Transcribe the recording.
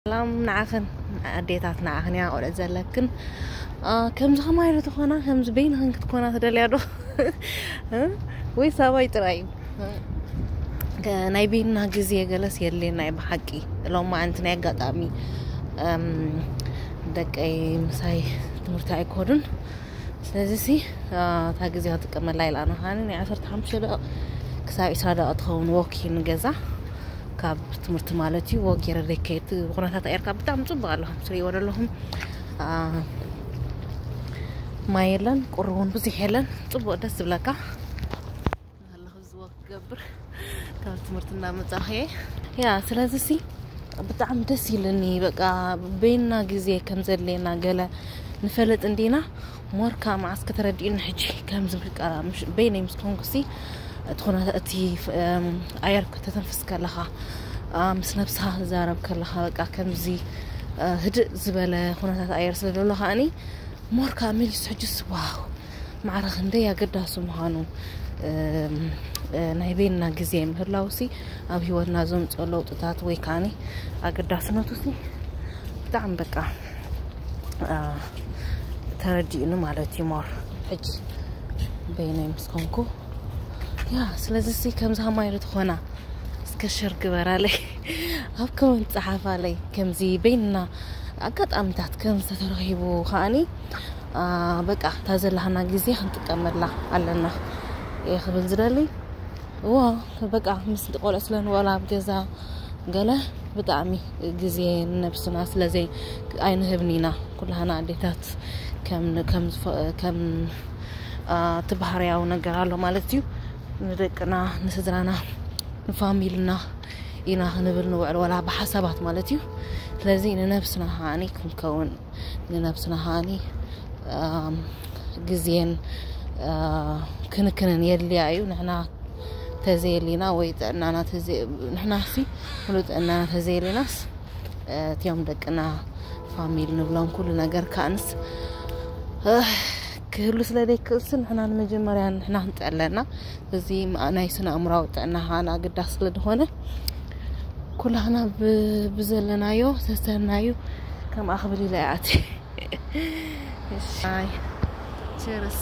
ሰላም ንዓኽን ኣዴታት፣ ንዓኽን እያ ቆልዑ ዘለክን። ከምዚ ከማይ ዶ ትኾና? ከምዚ በይንኽን ክትኮና ትደልያ ዶ? ወይ ሳባይ ጥራይ እዩ? ናይ በይንና ግዜ ገለስ የድልየና እዩ ብሓቂ። ሎማዓንቲ ናይ ኣጋጣሚ ደቀይ ምሳይ ትምህርቲ ኣይኮዱን። ስለዚ ሲ እታ ግዜ ክጥቀመላ ኢላ ኣነ ከዓኒ ናይ ዓሰርተ ሓሙሽተ ደቂቕ ክሳብ ዒስራ ደቂቕ ትኸውን ወክ ንገዛ ካብ ትምህርቲ ማለት እዩ። ወክ ገይረ ደከይት ኩነታት ኣየርካ ብጣዕሚ ፅቡቅ ኣሎ። ትሪእዎ ዘለኹም ማይ የለን፣ ቁሪ እውን ብዙሕ የለን። ፅቡቅ ደስ ዝብለካ ኣለኹ። እዚ ወክ ክገብር ካብ ትምህርቲ እንዳመጻኹ እየ። ያ ስለዚ ሲ ብጣዕሚ ደስ ኢልኒ። በቃ በይንና ግዜ ከም ዘድልየና ገለ ንፈልጥ እንዲና። ሞርካ መዓስ ከተረዲኡኒ ሕጂ ከምዚ በቃ በይነይ ምስ ኮንኩሲ እቲ ኩነታ እቲ ኣየር ከተተንፍስ ከለኻ ምስ ነብስኻ ትዛረብ ከለኻ በቃ ከምዚ ህድእ ዝበለ ኩነታት ኣየር ስለ ዘሎ ከዓኒ ሞርካ መሊሱ ሕጅስ ዋው ማዕረ ክንደይ ኣገዳሲ ምዃኑ ናይ በይንና ግዜ ምህላውሲ ኣብ ህይወትና ዘምፅኦ ለውጥታት ወይ ከዓኒ ኣገዳስነቱሲ ብጣዕሚ በቃ ተረዲኡኒ ማለት እዩ። ሞር ሕጂ በይነይ ምስ ኮንኩ ያ ስለዚ ሲ ከምዚ ከማይ ዶ ትኾና እስከ ሸር ግበራለይ ኣብ ኮመንት ጸሓፋለይ። ከምዚ በይንና ኣጋጣሚታት ከም ዝተተረኺቡ ከዓኒ በቃ እታ ዘለሃና ግዜ ክንጥቀመላ ኣለና እየ ክብል ዝደሊ። እዎ በቃ ምስ ቆልዑ ስለ ንበላ ኣብ ገዛ ገለ ብጣዕሚ ግዜ ንነብስና ስለዘይ ኣይንህብን ኢና። ኩላህና ኣዴታት ከም ከም ዝፈ- ከም እቲ ባህርያዊ ነገር ኣሎ ማለት እዩ። ንደቅና ንስድራና ንፋሚልና ኢና ክንብል ንውዕል ወላ ብሓሳባት ማለት እዩ። ስለዚ ንነብስና ከዓኒ ክንከውን ንነብስና ከዓኒ ግዜን ክንክንን የድልያ እዩ። ንሕና ተዘየሊና ወይ ጥዕናና ንሕናሲ ሙሉ ጥዕናና ተዘየሊናስ እቲኦም ደቅና ፋሚሊ ንብሎም ኩሉ ነገር ከዓንስ ክህሉ ስለ ዘይክእልሲ ንሕና ንመጀመርያ ንሕና ክንጥዕለና እዚ ናይ ስነ ኣእምራዊ ጥዕና ከዓና ኣገዳሲ ስለ ዝኾነ ኩላህና ብዘለናዮ ዝተሰናዩ ከምኣ ክብል ኢለ ይኣት Cheers.